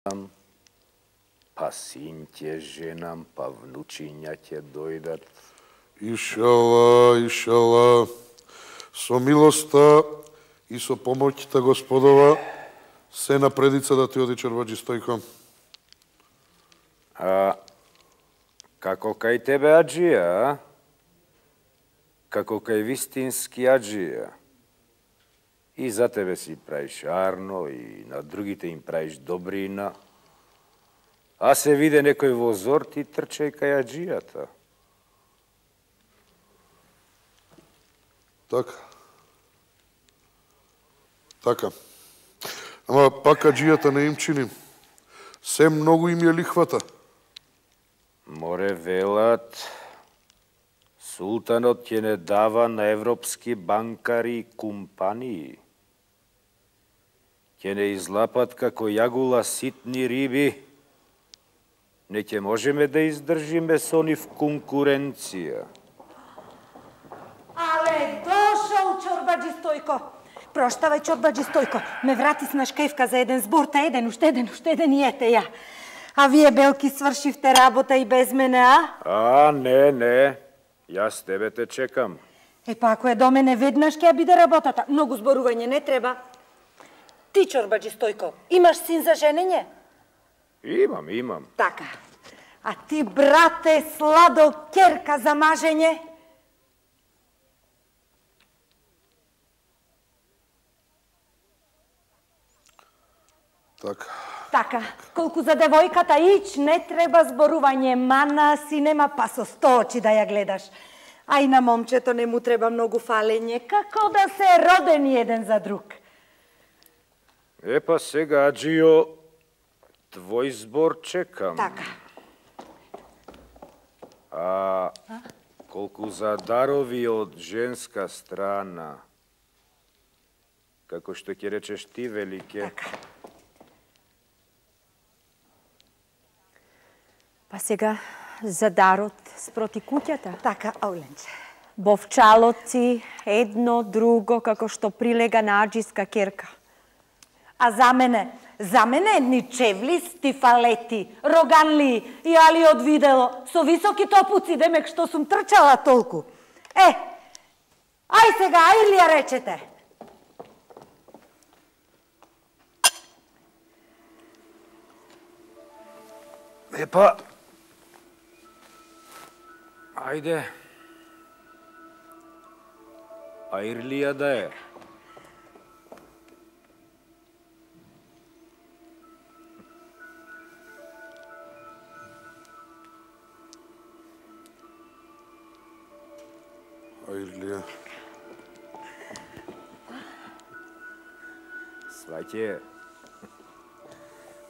па син ќе женам, па внучиња ќе дојдат. Ишала, ишала, со милоста и со помоќта Господова, се напредица да ти оди Чорбаџи Стојко. Како кај тебе аџија, како кај вистински аџија. И за тебе си правиш арно, и на другите им правиш добрина. А се виде некој во зор, ти трчај кај аџијата. Така. Ама пак аџијата не им чиним. Се многу им ја лихвата. Море велат, султанот ќе не дава на европски банкари и компании. Ќе не излапат како јагула ситни риби. Не ќе можеме да издржиме со нив конкуренција. Але дошол Чорбаџи Стојко. Проштавај, Чорбаџи Стојко. Ме врати с нашкајвка за еден збор, та уште еден и ете ја. А вие, белки, свршивте работа и без мене, а? Не. Јас тебе те чекам. Па ако е до мене веднаш ќе биде работата. Многу зборување не треба. Ти, Чорбаџи Стојко, имаш син за женење? Имам. Така. А ти, брате, сладо керка за мажење? Така. Колку за девојката, ич не треба зборување, мана си нема, па со 100 очи да ја гледаш. А и на момчето не му треба многу фалење, како да се родени еден за друг. Па сега, аџио, твој збор чекам. Така. Колку за дарови од женска страна, како што ќе речеш ти, велике. Така. Па сега за дарот спроти куќата. Така, Ауленче. Бовчалоци, едно, друго, како што прилега на аџиска керка. А за мене едни чевли, стифалети, роганли и али од видело, со високи топуци, демек што сум трчала толку. Ај сега, ај ли ја речете? Па, ајде. Ајрлија да е. Ајрлија. Сваќе.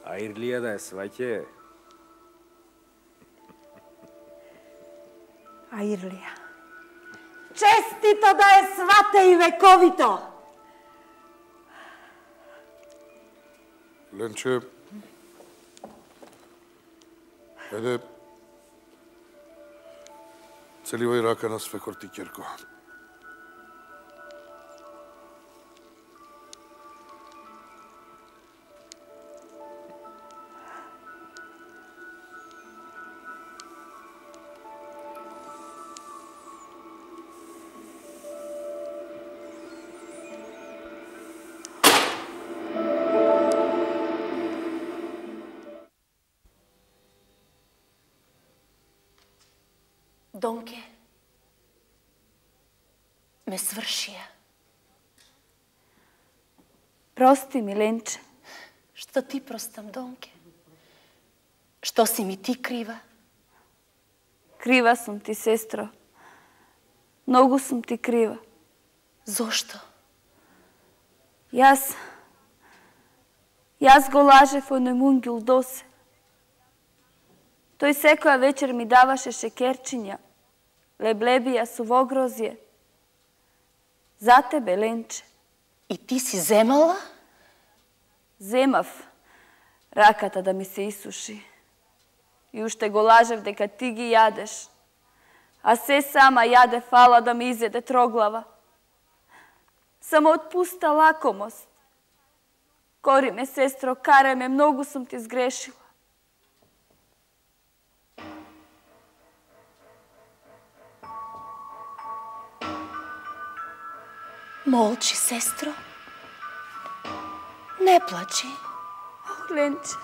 Ајрлија да е, сваќе. Ајрлија. Честито да е свате и вековито! Ленче, еде, целивај рака на свекор ти ќерко. Донке, ме свршија. Прости ми, Ленче. Што ти простам, Донке? Што си ми ти крива? Крива сум ти, сестро. Многу сум ти крива. Зошто? Јас го лажев оној мунгил Досе. Тој секоја вечер ми даваше шекерчиња, леблебија со вогрозје. За тебе, Ленче. И ти си земала? Земав раката да ми се исуши. И уште го лажев дека ти ги јадеш. А се сама јаде фала да ми изеде троглава. Само од пуста лакомост. Кори ме, сестро, карај ме, многу сум ти сгрешила. Молчи, сестро. Не плачи. Ленче.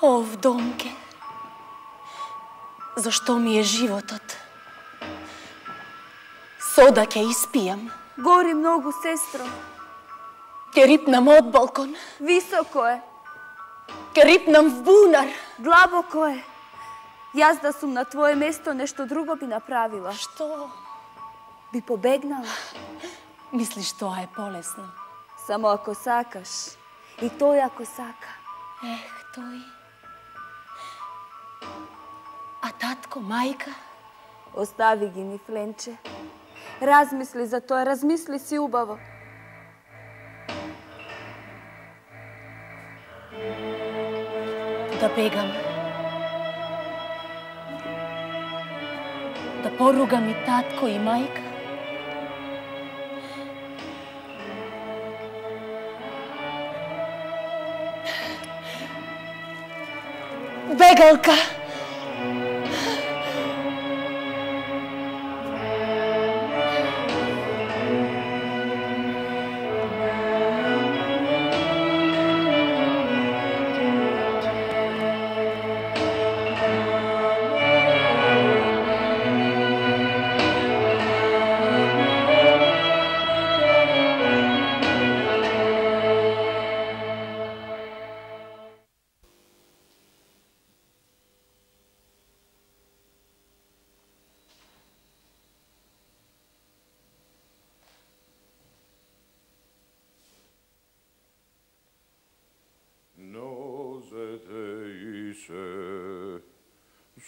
О, вдомке. Зашто ми е животот? Сода ќе испијам. Гори многу, сестро. Ке рипнам од балкон. Високо е. Ке рипнам в бунар. Длабоко е. Јас да сум на твое место, нешто друго би направила. Што? Би побегнала. Мислиш тоа е полесно? Само ако сакаш. И тој ако сака. Ех, тој. А татко, мајка? Остави ги ни, Фленче. Размисли за тоа, размисли си убаво. Да бегам. Да поругам и татко и мајка. Бегалка!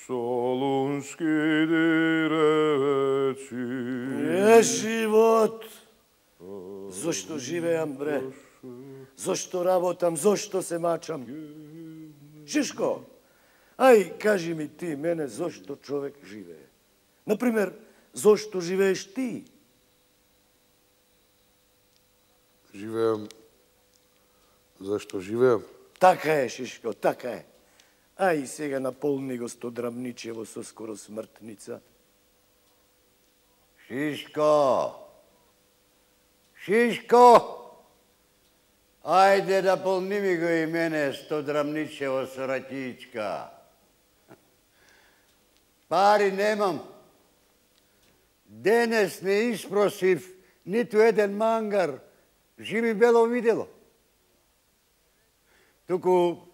Солунски диреци. Е, живот! Зошто живеам, бре? Зошто работам? Зошто се мачам? Шишко, ај, кажи ми ти мене зошто човек живее. Например, зошто живееш ти? Живеам. Зашто живеам? Така е, Шишко, така е. Ај, сега наполни го Стодрамничево со скоро смртница. Шишко! Шишко! Ајде да полни ми го и мене Стодрамничево со ракичка. Пари немам. Денес не испросив ниту еден мангар. Живи бело видело. Туку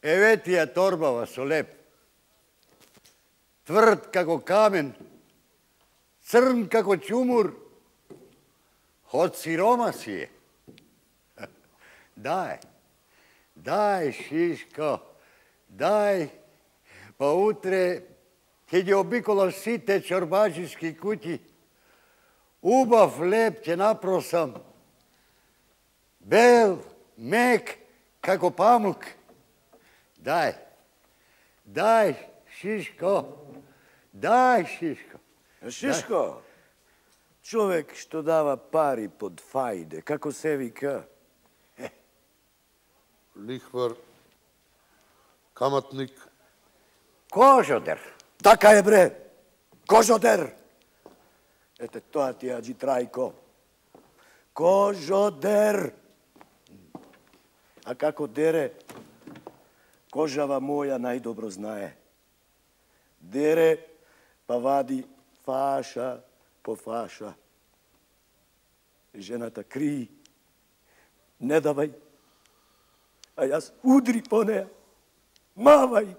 еветија торбава со леп. Тврд како камен, црн како чумур. Од сирома си е. Дај, дај, Шишко, дај, па утре ќе ги обиколам сите чорбаджиски куќи. Убав леп ќе напросам. Бел, мек, како памук. Дај, дај, Шишко, дај, Шишко. Шишко, човек што дава пари под фајде, како се вика? Лихвар, каматник. Кожодер. Така е, бре, кожодер. Ете, тоа ти аджи Трајко. Кожодер. А како дере, кожава моја најдобро знае. Дере, па вади фаша по фаша. Жената крии, не давај, а јас удри по неја, мавај.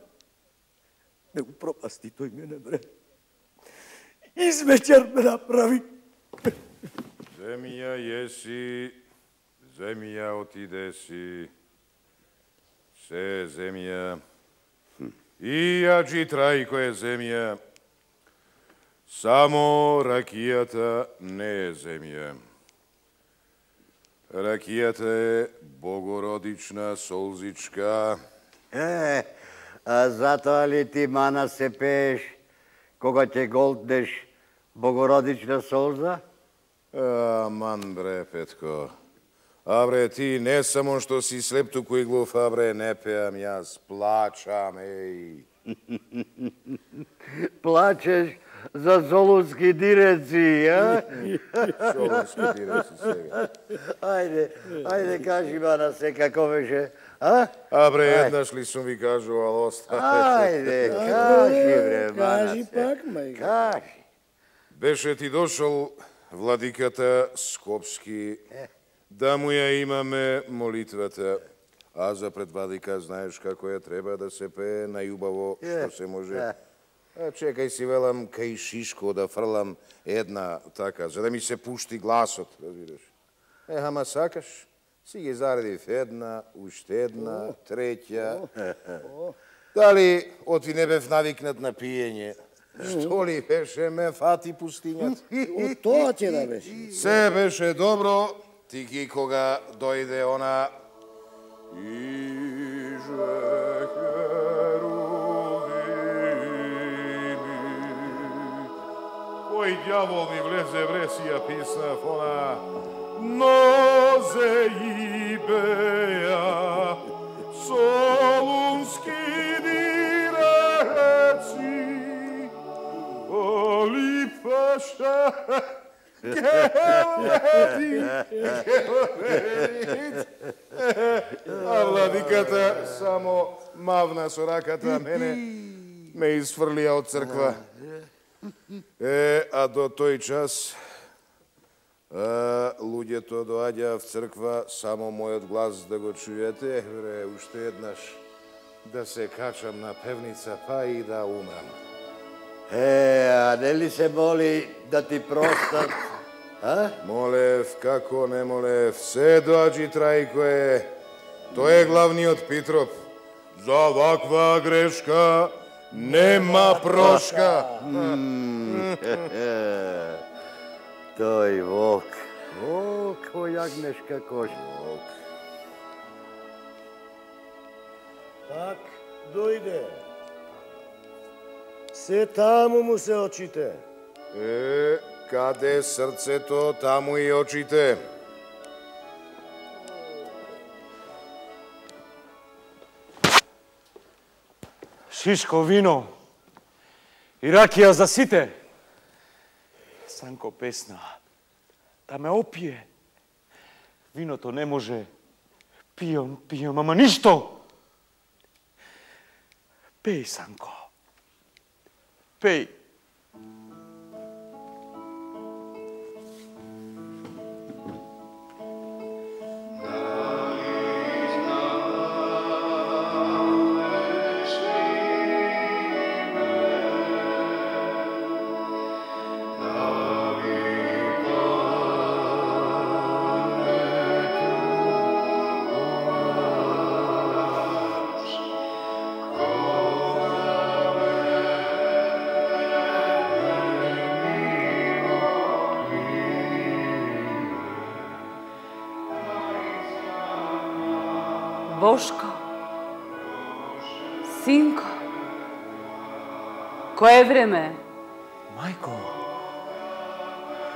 Не го пропасти тој мене, бре. Измечар ме направи. Земја јеси, земја отидеси, се земја. И аджи Трајко е земја, само ракијата не е земја. Ракијата е богородична солзичка. А затоа ли ти мана се пееш кога ќе голтнеш богородична солза? Аман бре, Петко, Абре, ти не само што си слеп туку и глув, абре, не пеам јас, плачам, еј. Плачеш за солунски диреци, а? Солунски диреци сега. Ајде, кажи Манасе како беше, а? Абре, еднаш ли сум ви кажувал, оставете. Ајде, кажи, бре, Манасе. Кажи пак, мајка. Кажи. Беше ти дошол владиката Скопски, да му ја имаме молитвата. А за пред владика знаеш како ја треба да се пее најубаво што се може. Чекај си, велам, кај Шишко да фрлам една така, за да ми се пушти гласот, разбираш. Ама сакаш, си ги заредив една, уште една, третја. Дали оти не бев навикнат на пиење? Што ли беше ме фати пустињата? Од тоа ќе да беше. Се беше добро, тики кога дојде она Кој дјавол ми влезе вре си ја писнав она Нозе и беја солунски диреци Оли паша А владиката само мавна со раката, мене ме изфрлија од црква. А до тој час луѓето доаѓа в црква само мојот глас да го чујете. Бре, уште еднаш да се качам на певница, па и да умрам. А нели се моли да ти простат? Молев, како не молев, се доаѓи Трајкое. Тој е главниот Питроп. За ваква грешка нема прошка. Тој Вок. Вок, кој јагнешка кош. Пак дојде. Се таму му се очите. Каде срцето, таму и очите. Шишко вино и ракија за сите. Санко песна, да ме опие. Виното не може. Пијам, ама ништо. Пеј, Санко. Пеј. Бошко, синко, кое време? Мајко,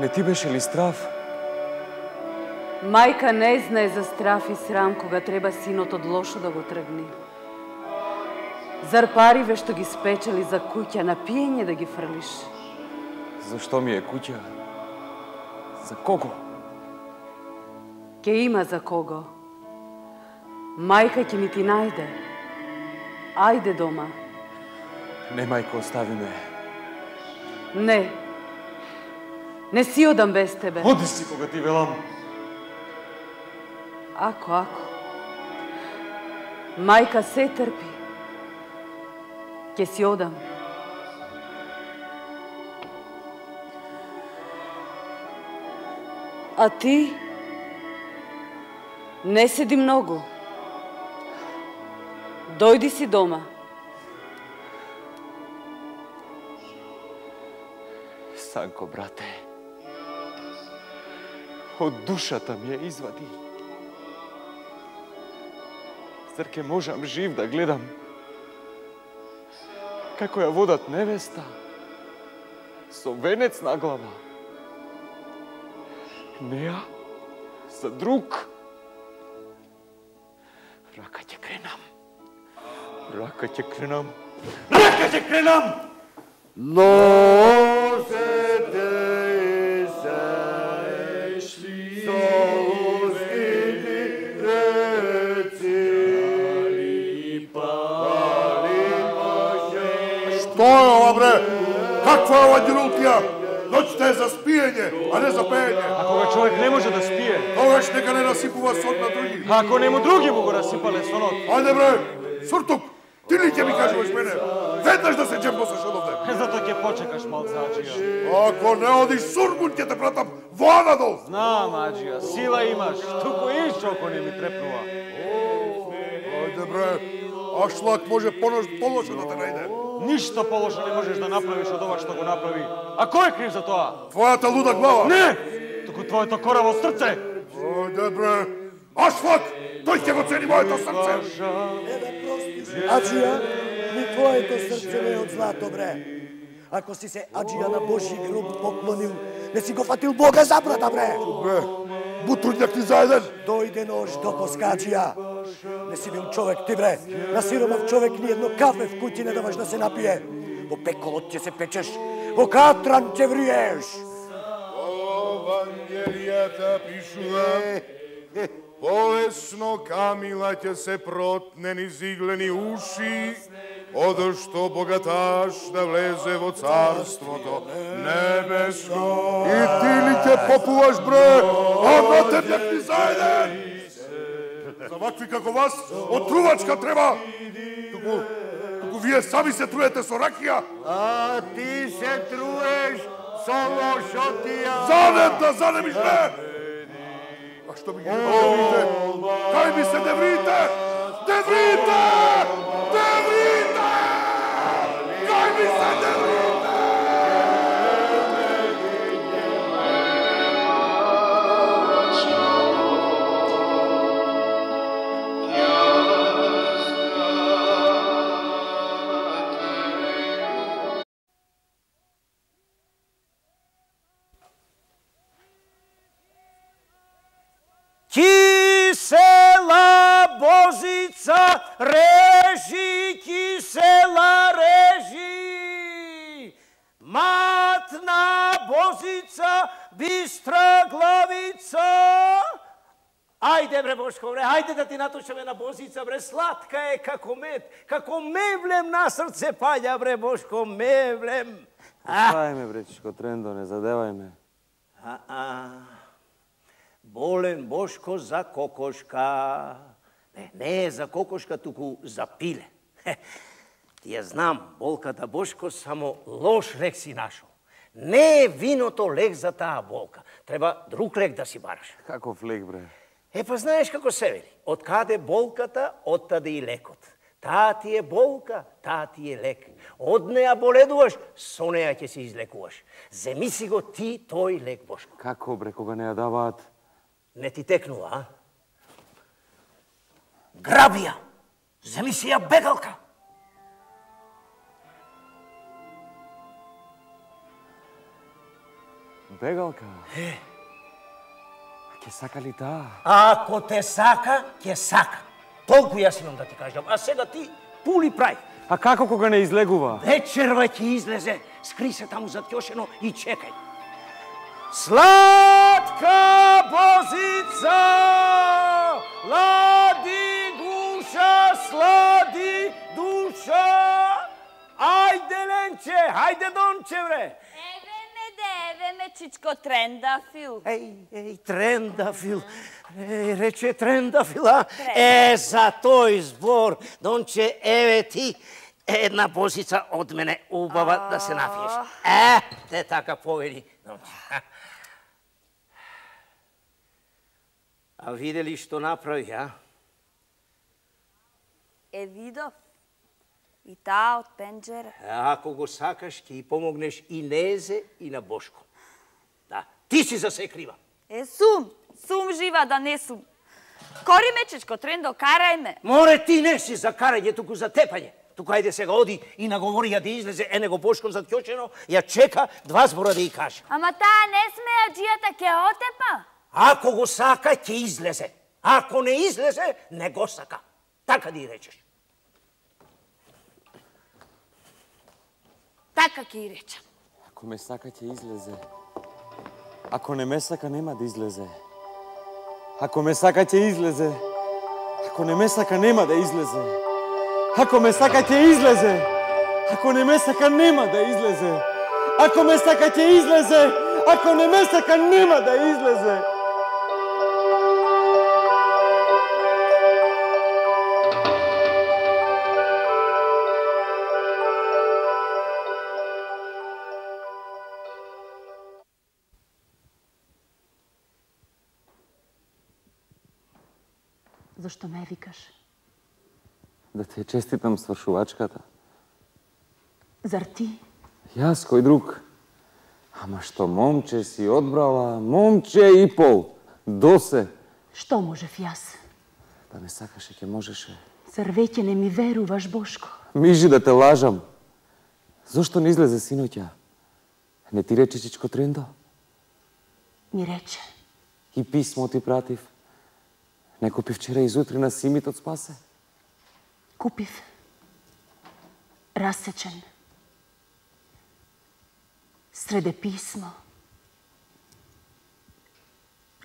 не ти беше ли страв? Мајка не знае за страф и срам кога треба синот од лошо да го тргни. Зар париве што ги спечели за куќа на пиење да ги фрлиш? Зашто ми е куќа? За кого? Ке има за кого. Мајка ќе ми ти најде. Ајде дома. Не, мајко, остави ме. Не. Не си одам без тебе. Оди си кога ти велам. Ако. Мајка се трпи. Ке си одам. А ти? Не седи многу. Дојди си дома. Санко, брате, од душата ми ја извади. Зар ке можам жив да гледам како ја водат невеста со венец на глава? Неа за друг Рака ќе кренам. Рака ќе кренам. Рака ќе кренам! Носете се солуските реци. Што е ова, бре? Каква е ова ѓерултија? Ноќта е за спиење, а не за пеење. А кога човек не може да спие? Тогаш нека не насипува сон на други. А ако нему други му го расипале сонот? Ајде, бре, Суртук, ти ли ќе ми кажуваш мене? Веднаш да се джембосаш од овде. Зато ќе почекаш малце, Аџија. Ако не одиш сургун, ќе те пратам во надол. Знам, Аџија, сила имаш, туку ишчоко не ми трепнува. Ајде, бре, Ашлак може полошо да те најде. Ништо полошо не можеш да направиш од ова што го направи. А кој е крив за тоа? Твојата луда глава. Не! Туку твоето кораво срце. Ајде, бре, Ашлак, тој ќе го цени моето срце. Аџија, ни твоето срце не е од злато, бре. Ако си се Аџија на Божи гроб поклонил, не си го фатил Бога за брата, бре. Бре, бутрудњак ти заеден. Дојде нож до Аџија. Не си бил човек ти, бре. На сиромав човек ни едно кафе в куќи не даваш да се напие. Во пеколот ќе се печеш, во катран ќе вриеш. Евангелијата пишува, полесно камила ќе се протне низ иглени уши, одошто богаташ да влезе во царството небеско. И ти ли ќе попуваш, бре, а на тебе ти заеден. За вакви како вас, отрувачка треба. Туку вие сами се труете со ракија. А ти се труеш со лошотија. Занем да занемиш, бре! А што ми ги деврите? Кај ми се деврите? Деврите! Деврите! Кај ми се деврите? Кисела Бозица режи, кисела режи. Матна Бозица, бистра главица. Ајде, бре, Бошко, бре, ајде да ти натушаме на Бозица, бре, сладка е како мед, како мевлем на срце паѓа, бре, Бошко, мевлем. Оставај ме, бречичко Трендо, не задевај ме. Болен Бошко за кокошка. Не е за кокошка, туку за пиле. Ти ја знам, болката Бошко само лош лек си нашол. Не е виното лек за таа болка. Треба друг лек да си бараш. Каков лек, бре? Па знаеш како се вели. Од каде болката, оттаде и лекот. Таа ти е болка, таа ти е лек. Од неа боледуваш, со неа ќе се излекуваш. Земи си го ти тој лек, Бошко. Како, бре, кога не ја даваат? Не ти текнува, а? Граби ја! Земи си ја бегалка! Бегалка? Ке сака ли таа? Ако те сака, ќе сака. Толку јас имам да ти кажам. А сега ти пули прај. А како кога не излегува? Вечерва ќе излезе. Скри се таму зад ќошено и чекај. Сладка Бозица, лади гуша, слади душа. Ајде, Ленче, ајде, Донче, бре. Еве ме, чичко Трендафил. Еј, Трендафил. Рече Трендафил, а? За тој збор, Донче, еве ти една Бозица од мене, убава да се напиеш. Те така повели, Донче. А видели што направи, а? Видов. И таа од пенџера. Ако го сакаш, ќе и помогнеш и Незе и на Бошко. Да, ти си за се крива. Сум жива да не сум. Кори ме, чичко Трендо, карај ме. Море, ти не си за карање, туку за тепање. Туку ајде сега оди и наговори ја да излезе, него Бошко зад ќочено, ја чека два збора да ја каже. Ама таа не сме Аџијата ке отепа. Ако го сака, ќе излезе. Ако не излезе, не го сака. Така да и речеш. Така ќе и речам. Ако ме сака, ќе излезе. Ако не ме сака, нема да излезе. Ако ме сака, ќе излезе. Ако не ме сака, нема да излезе. Ако ме сака, ќе излезе. Ако не ме сака, нема да излезе. Ако ме сака, ќе излезе. Ако не ме сака, нема да излезе. Зошто ме викаш? Да ти честитам свршувачката. Зар ти? Јас, кој друг? Ама што момче си одбрала, момче и пол. Досе. Што можев јас? Да ме сакаше, ќе можеше. Зар веќе не ми веруваш, Бошко? Мижи да те лажам. Зошто не излезе синоќа? Не ти рече Чичко Трендо? Ми рече. И писмо ти пратив. Не купи вчера изутри на Симит од Спасе? Купив. Расечен. Среде писмо.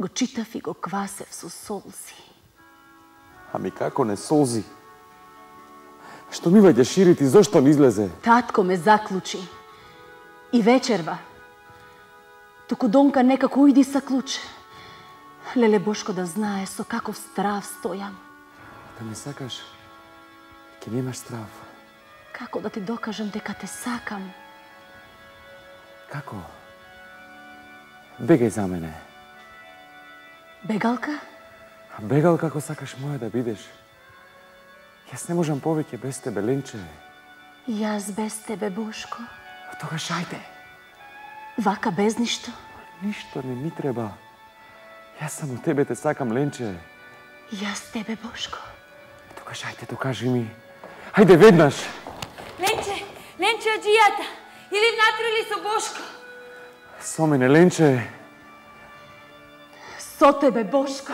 Го читав и го квасев со солзи. Ами како не солзи? Што ми ваѓа ширити, зошто не излезе? Татко ме заклучи. И вечерва. Туку Донка некако ујди са клуч. Леле Бошко да знае со каков страв стојам. Да ме сакаш, ќе немаш страв. Како да ти докажам дека те сакам? Како? Бегај за мене. Бегалка? Бегал како сакаш моја да бидеш. Јас не можам повеќе без тебе, Ленче. Јас без тебе, Бошко. Тогаш ајде. Вака без ништо? Ништо не ми треба. Јас само тебе те сакам, Ленче. Јас тебе, Бошко. Тогаш ајде, докажи ми. Ајде веднаш. Ленче од джијата. Или внатре ли со Бошко? Со мене, Ленче. Со тебе, Бошко.